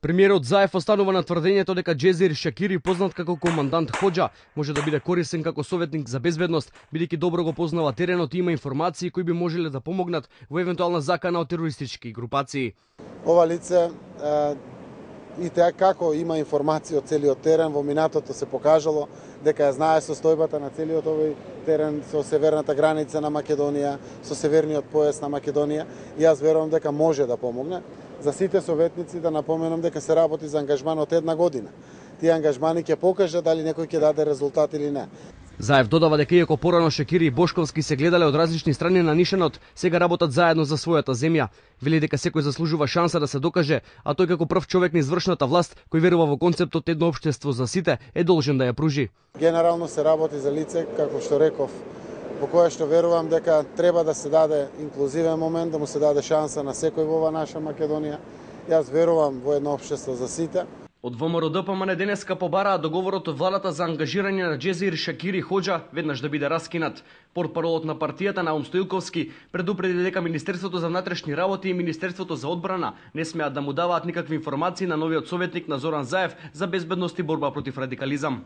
Премиерот Заев останува на тврдењето дека Џезир Шакири, познат како командант Хоџа, може да биде корисен како советник за безбедност, бидејќи добро го познава теренот и има информации кои би можеле да помогнат во евентуална закана од терористички групации. Ова лице и така како има информации од целиот терен, во минатото се покажало дека ја знае состојбата на целиот овој терен со северната граница на Македонија, со северниот појас на Македонија, и јас верувам дека може да помогне. За сите советници да напоменам дека се работи за ангажман од 1 година. Тие ангажмани ќе покажат дали некој ќе даде резултат или не. Заев додава дека иако порано Шакири и Бошковски се гледале од различни страни на нишанот, сега работат заедно за својата земја. Вели дека секој заслужува шанса да се докаже, а тој како прв човек на извршната власт, кој верува во концептот едно општество за сите, е должен да ја пружи. Генерално се работи за лице, како што реков, во кое што верувам дека треба да се даде инклузивен момент, да му се даде шанса на секој во ова наша Македонија. Јас верувам во едно општество за сите. Од ВМРО ДПМН денеска побараа договорот од владата за ангажирање на Џезир Шакири Хоџа веднаш да биде раскинат. Портпаролот на партијата Наум Стоилковски предупреди дека Министерството за внатрешни работи и Министерството за одбрана не смеат да му даваат никакви информации на новиот советник на Зоран Заев за безбедност и борба против радикализам.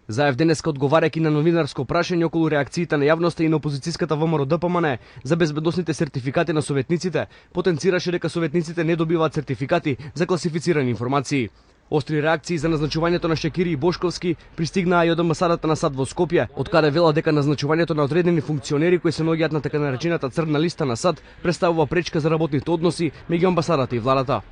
Заев денеска одговарајќи на новинарско прашање околу реакциите на јавноста и на опозицијската ВМРО ДПМН за безбедносните сертификати на советниците, потенцираше дека советниците не добиваат сертификати за класифицирани информации. Остри реакции за назначувањето на Шакири и Бошковски пристигнаа и од амбасадата на САД во Скопје, од каде вела дека назначувањето на одредени функционери кои се наоѓаат на така наречената црна листа на САД представува пречка за работните односи меѓу амбасадата и владата.